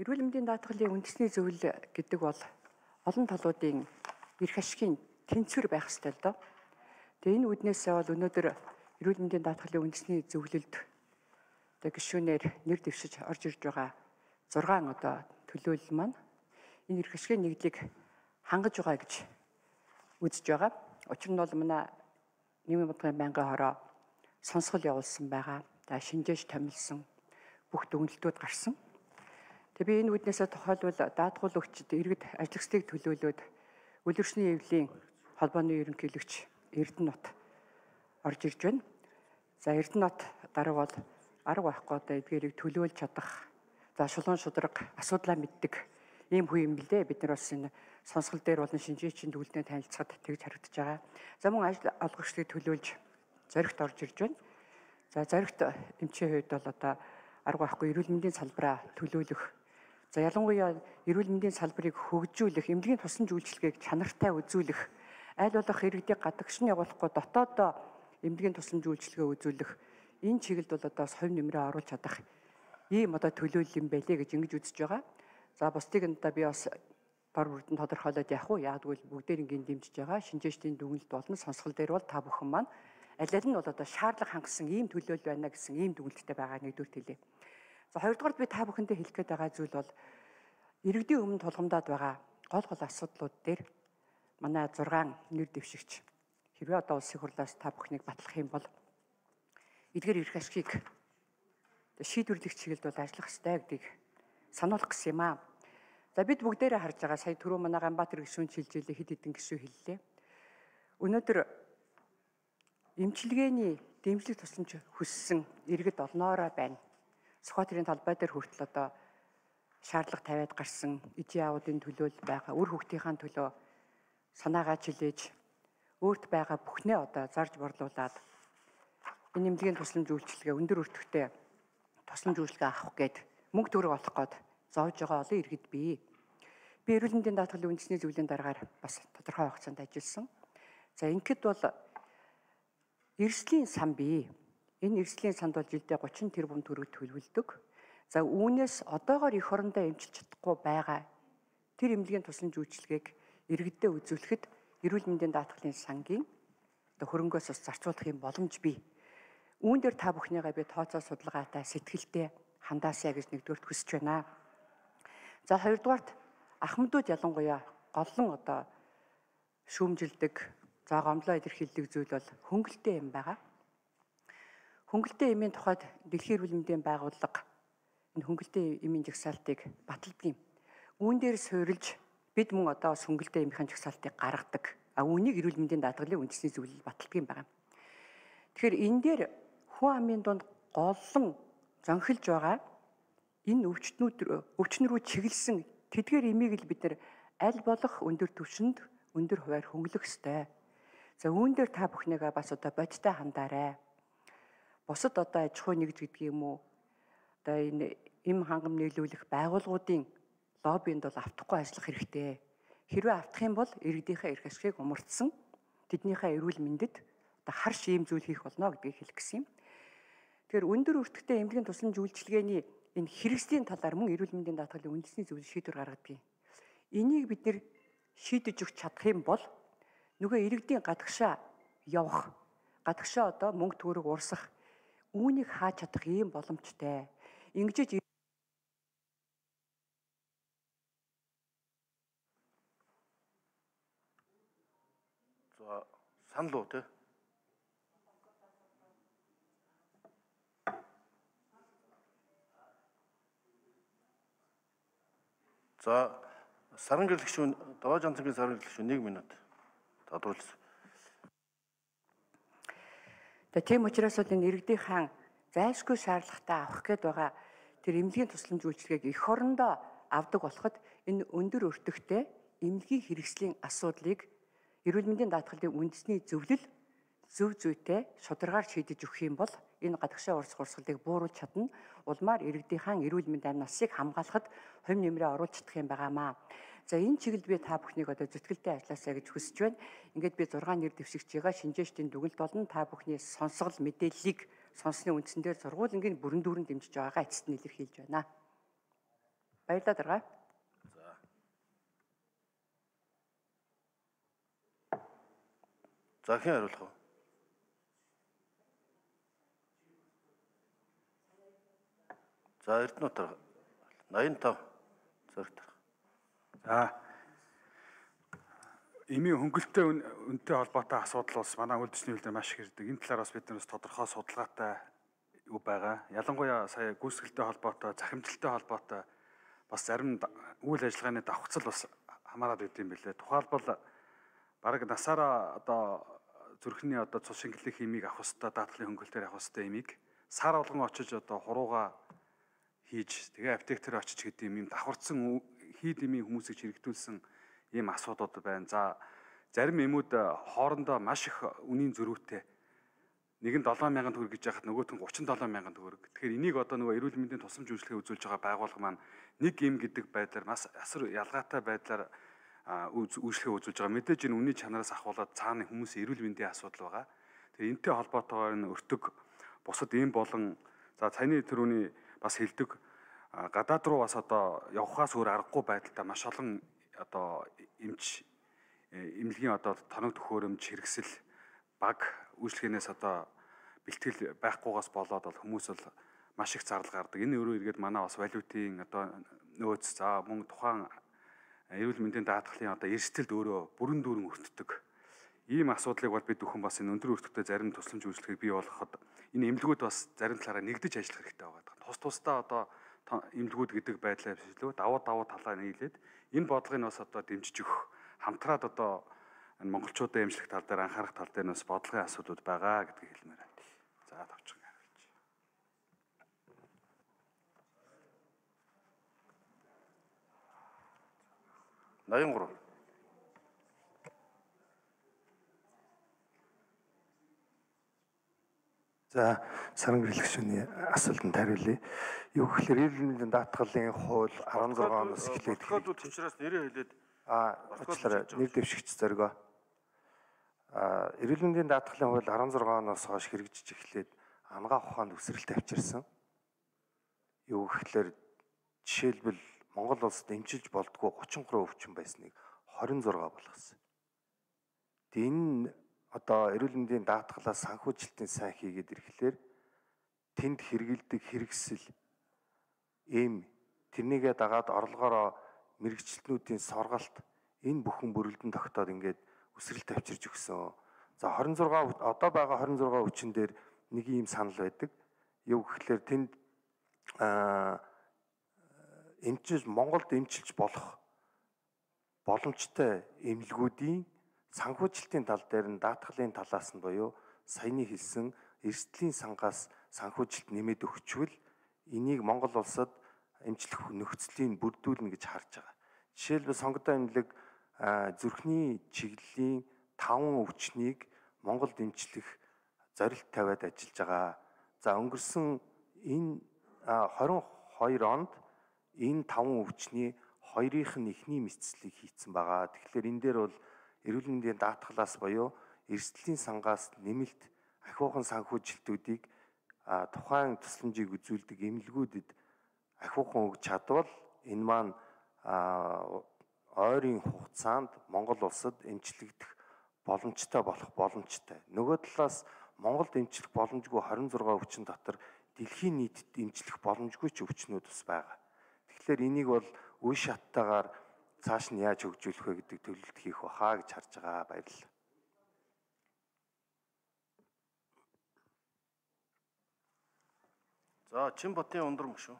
Эрүүл мэндийн даатгалын үндэсний зөвлөл гэдэг бол олон талуудын эрх ашигын тэнцвэр байх ёстой л доо. Тэгээ энэ үүднээсээ бол өнөөдөр эрүүл мэндийн даатгалын үндэсний зөвлөлд гишүүнээр нэр дэвшиж орж ирж байгаа 6 төлөөлөл маань энэ эрх ашигын нэгдлийг хангаж байгаа гэж үзэж байгаа. Учир нь бол манай нийгмийн бодлогын байнгын хороо сонсгол явуулсан байгаа. За шинжээж томилсон бүх дүгнэлтүүд гарсан. Тэгээ би энэ үүднээсээ тохиолбол даатгал өгчд иргэд ажлагчдыг төлөөлөөд үлгэршний эвлийн холбооны ерөнхийлөгч Эрдэнэт орж ирж байна. За Эрдэнэт дарга бол арга байхгүй эдгээрийг төлөөлж чадах, за шулуун шударга асуудлаа мэддэг ийм хүн юм билээ. Бид нар бас энэ сонсгол дээр болон шинжээчийн дүгнэлтэд танилцахад тэгж харагдаж байгаа. За мөн ажил олгогчдыг төлөөлж зоригт орж ирж байна. За зоригт эмчийн хувьд бол арга байхгүй эрүүл мэндийн салбараа төлөөлөх. За ялангуяа эрүүл мэндийн салбарыг хөгжүүлэх, эмнэлгийн тусан үйлчилгээг чанартай үзүүлэх, аль болох иргэдийг гадагш нь явуулахгүй дотоодоо эмнэлгийн тусан үйлчилгээ үзүүлэх энэ чиглэлд бол совь нэмрээ оруулж чадах ийм төлөөлөл юм байлээ гэж ингэж үзэж байгаа. За бусдыг нь би бас дор бүрдэн тодорхойлоод явах уу? Яагтвэл бүгдээр ингээд дэмжиж байгаа. Шинжээчдийн дүгнэлт болон сонсгол дээр бол та бүхэн маань аль аль нь бол шаардлага хангасан ийм төлөөлөл байна гэсэн ийм дүгнэлттэй байгаа нэгдүгээр хэлье. За хоёрдугаар би та бүхэндээ хэлэх гээд байгаа зүйл бол иргэдийн өмнө тулгамдаад байгаа гол асуудлууд дээр манай 6 нэр дэвшигч хэрвээ улсын хурлаас та бүхнийг батлах юм бол эдгээр эрх ашигыг шийдвэрлэх чиглэлд бол ажиллах ёстой гэдгийг сануулах гэсэн юм аа. За бид бүгдээрээ харж байгаа сая түрүү манай Ганбаатар гишүүн шилжүүлээ хэд хэдэн гишүүн хэллээ. Өнөөдөр эмчилгээний дэмжлэг тусламж хүссэн иргэд олноороо байна. Сүхбаатарын талбай дээр хүртэл шаардлага тавиад гарсан ижийн аавуудын төлөөлөл байгаа. Үр хүүхдийнхаа төлөө санаагаа чилээж өөрт байгаа бүхнээ зарж борлуулад энэ эмнэлгийн тусламж үйлчилгээ өндөр өртөгтэй тусламж үйлчилгээ авах гээд мөнгө төгрөг олох гээд зоож байгаа олон иргэд бий. Би эрүүл мэндийн даатгалын үндэсний зөвлөлийн дараагаар бас тодорхой хугацаанд ажилласан. За ингээд бол эрсдлийн сан бий. Энэ эрсдлийн санд бол жилдээ 30 тэрбум төгрөг төлөвлөдөг. За үүнээс одоогоор эх орондоо эмчилж чадахгүй байгаа тэр эмнэлгийн тусламж үйлчилгээг иргэдэд үзүүлэхэд эрүүл мэндийн даатгалын сангийн хөрөнгөөс бас зарцуулах юм боломж бий. Үүн дээр та бүхнийгээ би тооцоо судалгаатай сэтгэлтэй хандаасаа гэж нэгдүгээрт хүсэж байна. За хоёрдугаарт ахмадууд ялангуяа голлон шүүмжилдэг, за гомдлоо илэрхийлдэг зүйл бол хөнгөлтэй юм байгаа. Хөнгөлтэй эмийн тухайд Дэлхийн эрүүл мэндийн байгууллага энэ хөнгөлтэй эмийн жагсаалтыг баталдаг юм. Үүн дээр суурилж бид мөн бас хөнгөлтэй эмийн жагсаалтыг гаргадаг. Үүнийг эрүүл мэндийн даатгалын үндэсний зөвлөл баталдаг юм байна. Тэгэхээр энэ дээр хүн амын дунд голлон зонхилж байгаа энэ өвчнөр рүү чиглэсэн тэдгээр эмийг л бид нар аль болох өндөр түвшинд өндөр хуваар хөнгөлөх ёстой. За үүн дээр та бүхнийгээ бас бодиттой хандаарай. Бусад аж ахуй нэгж гэдэг юм уу? Энэ эм хангам нийлүүлэх байгууллагуудын лоббинд бол автахгүй ажиллах хэрэгтэй. Хэрвээ автах юм бол иргэдийнхээ эрх ашигыг умартсан тэднийхээ эрүүл мэндэд харш ийм зүйл хийх болно гэдгийг хэлэх гэсэн юм. Тэгэхээр өндөр өртөгтэй эмнэлгийн тусламж үйлчилгээний энэ хэрэгслийн талаар мөн эрүүл мэндийн даатгалын үндэсний зөвлөл шийдвэр гаргадаг. Энийг бид нэр шийдэж өгч чадах юм бол нөгөө иргэдийн гадагшаа явах, гадагшаа мөнгө төгрөг урсах үүнийг хааж чадах ийм боломжтой. Ингэж за санал уу те. За саран гэрлэгчүүн Даваа Жанцангийн саран гэрлэгчүүн 1 минут тодруулсан. Тийм учраас энэ иргэдийн зайлшгүй шаардлагатай авах гээд байгаа тэр эмнэлгийн тусламж үйлчилгээг эх орондоо авдаг болоход энэ өндөр өртөгтэй эмнэлгийн хэрэгслийн асуудлыг эрүүл мэндийн даатгалын үндэсний зөвлөл зөв зүйтэй шударгаар шийдэж өгөх юм бол энэ гадагшаа урсгалыг бууруулж чадна. Улмаар иргэдийн эрүүл мэнд амь насыг хамгаалахад хувь нэмрээ оруулж чадах юм байгаамаа. За энэ чиглэлд би та бүхнийг зүтгэлтэй ажилласаа гэж хүсэж байна. Ингээд би 6 нэр дэвшигч байгаа шинжээчдийн дүгнэлт болон та бүхний сонсгол мэдээллийг сонссны үндсэн дээр сургуулингийн бүрэн дүүрэн дэмжиж байгаагаа эцэст нь илэрхийлж байна. Баярлалаа дарга. За хэн хариулах вэ? За Эрдэнэт дарга 85 зэрэг дарга. За эмийн хөнгөлөлтөй үнэтэй холбоотой асуудал бас манай үйлдвэрчний хил дээр маш их ирдэг. Энэ талаар бас бид нараас тодорхой судалгаатай юу байгаа. Ялангуяа сая гүйцэтгэлтэй холбоотой, захимжилттай холбоотой бас зарим үйл ажиллагааны давхцал бас хамаарат байд юм билээ. Тухайлбал бараг насаараа одоо зүрхний одоо цус шингэлэх химийг авах хэвээр даатгалын хөнгөлөлтөөр авах хэвээр эмийг сар болгон очиж одоо хурууга хийж тэгээ аптек дээр очиж гэдэг юм давхарцсан хийд эмийн хүмүүсийг хэрэгтүүлсэн ийм асуудууд байна. За зарим эмүүд хоорондоо маш их үнийн зөрүүтэй. Нэг нь 7,000 төгрөг гэж яхад нөгөөх нь 37,000 төгрөг. Тэгэхээр энийг одоо нөгөө эрүүл мэндийн тусламж үйлчлэгээ үзүүлж байгаа байгууллага маань нэг эм гэдэг байдлаар маш асар ялгаатай байдлаар үйлчлэгээ үзүүлж байгаа. Мэдээж энэ үнийн чанараас ахуулаад цаана хүмүүсийн эрүүл мэндийн асуудал байгаа. Тэгэхээр энэтэй холбоотойгоор энэ өртөг бусад эм болон за цайны төрөний бас хэлдэг гадаад руу бас одоо явхаас өөр аргагүй байдалтай маш олон одоо эмнэлгийн одоо тоног төхөөрөмж хэрэгсэл баг үйлчлэгээнээс одоо бэлтгэл байхгүйгаас болоод бол хүмүүс бол маш их зардал гардаг. Энэ өөрөө эргээд манай бас валютын одоо нөөц за мөн тухайн эрүүл мэндийн даатгалын одоо эрсдэлд өөрөө бүрэн дүүрэн өртдөг. Ийм асуудлыг бол бид бүхэн бас энэ өндөр өртөгтэй зарим тусламж үйлчлэгийг бий болгоход энэ эмнэлгүүд бас зарим талаараа нэгдэж ажиллах хэрэгтэй байгаа. Тус тусдаа одоо эмнэлгүүд гэдэг байдлаар бишлөө давуу талаа нийлээд энэ бодлогыг бас одоо дэмжиж өгөх хамтраад одоо энэ монголчуудын эмчлэх тал дээр анхаарах тал дээр бас бодлогын асуудлууд байгаа гэдгийг хэлмээр байна. За товчхон хариулж. 83. За саран гэрэлгчний асуултанд хариулъя. Юу гэхээр эрүүл мэндийн даатгалын хууль 16 оноос эхлээд Протоколд учраас нэрээ хэлээд уучлаарай нэр дэвшигч зоргоо. Эрүүл мэндийн даатгалын хууль 16 оноос хойш хэрэгжиж эхлээд ангаах ухаанд өсрэлт авчирсан. Юу гэхээр жишээлбэл Монгол улсад эмчилж болдгоо 33 өвчин байсныг 26 болгосон. Энэ одоо эрүүл мэндийн даатгалаас санхүүжилтийн сайн хийгээд ирэхлээр тэнд хэрэгэлдэг хэрэгсэл тэрнийгээ дагаад орлогоороо мэрэгчлэтнүүдийн соргалт энэ бүхэн бүрэлдэн тогтоод ингээд өсрэлт авчирж өгсөн. За 26 одоо байгаа 26 өвчин дээр нэг ийм санал байдаг. Юу гэхээр тэнд Монголд эмчилж болох боломжтой эмнэлгүүдийн санхүүжилтийн тал дээр нь даатгалын талаас нь буюу саяны хэлсэн эрсдлийн сангаас санхүүжилт нэмээд өгчвөл энийг Монгол улсад эмчлэх нөхцөлийг бүрдүүлнэ гэж харж байгаа. Жишээлбэл сонгогдсон эмнэлэг зүрхний чиглэлийн 5 өвчнийг Монголд эмчлэх зорилт тавиад ажиллаж байгаа. За өнгөрсөн энэ 22 онд энэ 5 өвчний 2-ийнх нь эхний мэдцлийг хийцэн байгаа. Тэгэхээр энэ дээр бол эрүүл мэндийн даатгалаас буюу эрсдлийн сангаас нэмэлт ахиухан санхүүжилтүүдийг тухайн тусламжийг үзүүлдэг эмнэлгүүдэд ахиухан өгч чадвал энэ маань ойрын хугацаанд Монгол улсад эмчлэгдэх боломжтой болох боломжтой. Нөгөө талаас Монголд эмчлэх боломжгүй 26 өвчин дотор дэлхийн нийтэд эмчлэх боломжгүй ч өвчнүүд бас байгаа. Тэгэхээр энийг бол үе шаттайгаар цааш нь яаж хөгжүүлэх вэ гэдэг төлөвлөлт хийх бахаа гэж харж байгаа. Баярлалаа. За Чинбатын ундрам шүү.